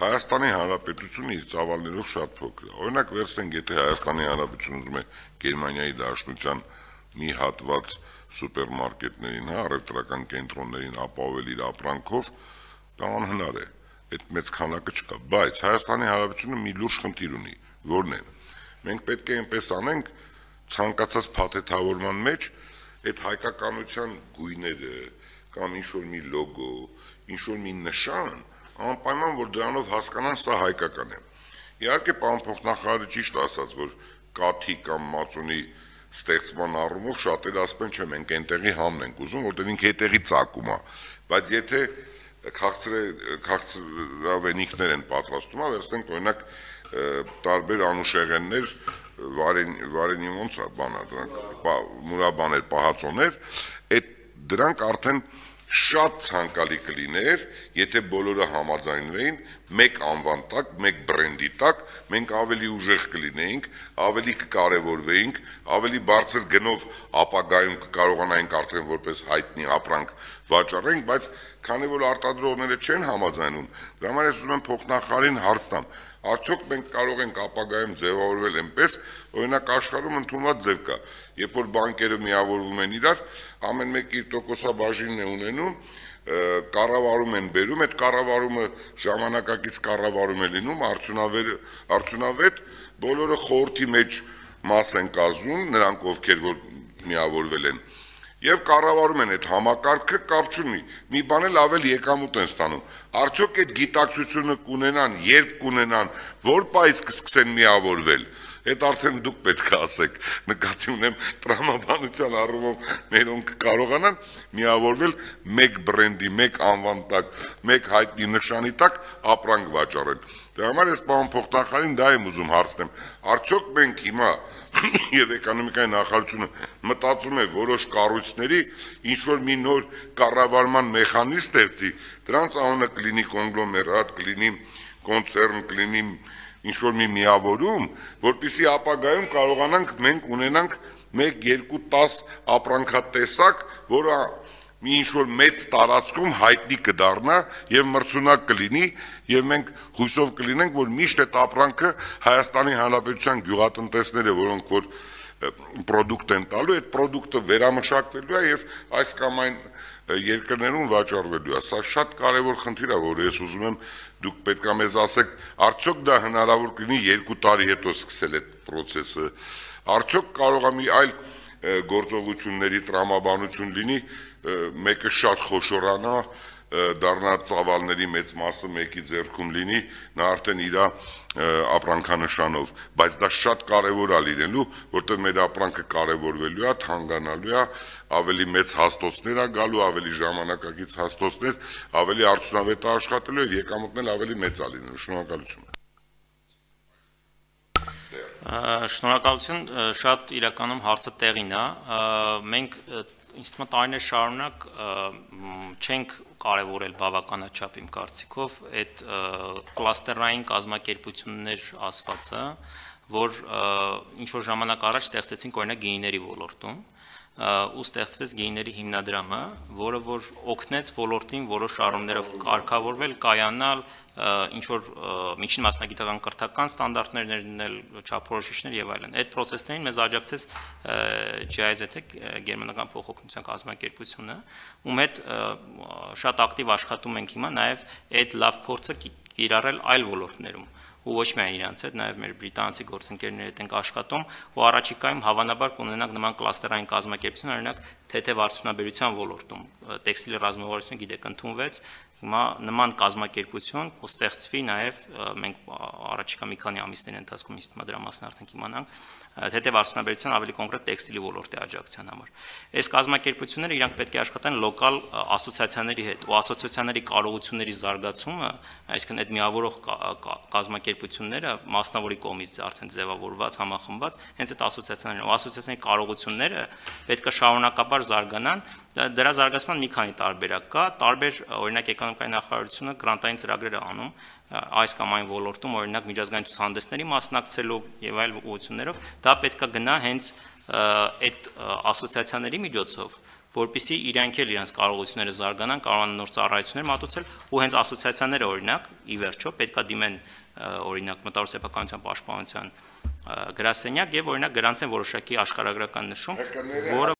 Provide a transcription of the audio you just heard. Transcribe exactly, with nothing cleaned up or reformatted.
Հայաստանի Հանրապետությունը իր ծավալներով շատ փոքր է։ Օրինակ վերցնենք, եթե Հայաստանի Հանրապետությունը ուզում է Գերմանիայի Դաշնության մի հատված սուպերմարկետներին, հա, առևտրական կենտրոններին ապահովել իր ապրանքով, դա անհնար է։ Այդ մեծ քանակը չկա, բայց Հայաստանի Հանրապետությունը մի լուրջ խնդիր ունի, որն է։ Մենք պետք է այնպես անենք, ցանկացած փաթեթավորման մեջ այդ հայկականության գույները կամ ինչ-որ մի լոգո, ինչ-որ մի նշան, անպայման որ դրանով հասկանան սա հայկական է։ Իհարկե պարոն փոխնախարարը ճիշտ ասաց, որ կաթի կամ մածունի ստեղծման առումով շատերը ասում են, չէ, մենք այնտեղի համն ենք ուզում, որտեղ ինքը այդտեղի ծագում է, բայց եթե քաղցրավենիքներ են պատրաստում, վերցնենք օրինակ տարբեր անուշեղեններ, վարենի ոնց է բանա, դրանք մուրաբաներ, պահածոներ, այդ դրանք արդեն շատ ցանկալի կլիներ, եթե բոլորը համաձայնվեին մեկ անվան տակ, մեկ բրենդի տակ, մենք ավելի ուժեղ կլինեինք, ավելի կկարևորվեինք, ավելի բարձր գնով ապագայում կկարողանայինք արդեն որպես հայտնի ապրանք վաճառենք, բայց քանի որ արտադրողները չեն համաձայնում, դրա համար ես ուզում եմ փոխնախարարին հարց տամ, արդյոք մենք կարող ենք ապագայում ձևավորվել այնպես, օրինակ աշխարհում ընդունված ձև կա, երբ որ բանկերը միավորվում են իրար, ամեն մեկ իր տոկոսաբաժինն է ունենում, կառավարում են բերում, այդ կառավարումը ժամանակակից կառավարում է լինում, արդյունավետ, բոլորը խորհրդի մեջ մաս են կազմում, նրանք ովքեր որ միավորվել են, եւ կառավարում են այդ համակարգը, կապ չունի, մի բան էլ ավելի եկամուտ են ստանում, արդյոք այդ գիտակցությունը կունենան, երբ կունենան, որ պայից կսկսեն միավորվել, այդ արդեն դուք պետք է ասեք, նկատի ունեմ տրամաբանության առումով մերոնք կարողանան միավորվել մեկ բրենդի, մեկ անվան տակ, մեկ հայտնի նշանի տակ ապրանք վաճառել։ Դրա համար ես պարոն փոխնախարարին դա եմ ուզում հարցնեմ, արդյոք մենք հիմա եւ էկոնոմիկայի նախարարությունը մտածում է որոշ կառույցների ինչ որ մի նոր կառավարման մեխանիզմ ստեղծի, դրանց անունը կլինի կոնգլոմերատ, կլինի կոնցեռն, կլինի ինչ-որ մի միավորում, որպեսզի ապագայում կարողանանք մենք ունենանք մեկ, երկու, տաս ապրանքատեսակ, որը մի ինչ-որ մեծ տարածքում հայտնի կդառնա եւ մրցունակ կլինի եւ մենք հույսով կլինենք, որ միշտ այդ ապրանքը Հայաստանի Հանրապետության գյուղատնտեսները, որոնք որ պրոդուկտ են տալու, այդ պրոդուկտը վերամշակվելու է եւ այս կամ այն երկրներում վաճառվելու է։ Սա շատ կարևոր խնդիր է, որ ես ուզում եմ դուք պետք է մեզ ասեք, արդյոք դա հնարավոր կլինի երկու տարի հետո սկսել այդ process-ը, արդյոք կարող է մի այլ գործողությունների տրամաբանություն լինի, մեկը շատ խոշորանա, դառնա ծավալների մեծ մասը մեկի ձեռքում լինի, նա արդեն իր ապրանքանշանով, բայց դա շատ կարևոր է լինելու, որտեղ մեր ապրանքը կարևորվելու է, թանկանալու է, ավելի մեծ հաստոցներ է գալու, ավելի ժամանակակից հաստոցներ, ավելի արդյունավետ է աշխատելու եւ եկամուտն էլ ավելի մեծ է լինելու։ Շնորհակալություն։ Շնորհակալություն, շատ իրականում հարցը տեղին է, մենք ինձ թվում է տարիներ շարունակ չենք կարևորել բավականաչափ իմ կարծիքով այդ կլաստերային կազմակերպություններ ասվածը, որ ինչ-որ ժամանակ առաջ ստեղծեցին օրինակ գինիների ոլորտում, ու ստեղծվեց գինիների հիմնադրամը, որը որ օգնեց ոլորտին որոշ առումներով կարգավորվել, կայանալ, ինչ-որ միջին մասնագիտական կրթական ստանդարտներ ներդնել, չափորոշիչներ եւ այլն։ Այդ process-ներին մեզ աջակցեց Ջի Այ Զեդ-ը, գերմանական փոխօգնության կազմակերպությունը, ում հետ շատ ակտիվ աշխատում ենք հիմա, նաեւ այդ լավ փորձը կիրառել այլ ոլորտներում։ Ու ոչ միայն իրանց հետ, նաև մեր բրիտանացի գործընկերների հետ ենք աշխատում, ու առաջիկայում հավանաբար կունենանք նման կլաստերային կազմակերպություն, օրինակ թեթև արդյունաբերության ոլորտում, տեքստիլ ռազմավարությունը գիտեք ընդունվեց, հիմա նման կազմակերպություն կստեղծվի նաև մենք առաջիկա մի քանի ամիսների ընթացքում ինձ թվում է դրա մասն արդեն կիմանանք, թեթև արդյունաբերության ավելի կոնկրետ տեքստիլի ոլորտի աջակցության համար։ Այս կազմակերպությունները իրանք պետք է աշխատեն լոկալ ասոցիացիաների հետ, ու ասոցիացիաների կարողությունների զարգացումը, այսինքն այդ միավորող կազմակերպությունները մասնավորի կողմից արդեն ձևավորված, համախմբված, հենց այդ ասոցիացիաներն ու ասոցիացիաների կարողությունները պետք է շարունակաբար զարգանան, դրա զարգացման մի քանի տարբերակ կա, տարբեր օրինակ էկոնոմիկայի նախարարությունը գրանտային ծրագրեր է անում այս կամ այն ոլորտում, օրինակ միջազգային ցուցահանդեսների մասնակցելով եւ այլ ուղղություններով, դա պետք է գնա հենց այդ ասոցիացիաների միջոցով, որպեսզի իրանք էլ իրենց կարողությունները զարգանան, կարողանան նոր ծառայություններ մատուցել, ու հենց ասոցիացիաները օրինակ ի վերջո պետքա դիմեն օրինակ մտավոր սեփականության պաշտպանության գրասենյակ եւ օրինակ գրանցեն որոշակի աշխարհագրական նշում, որը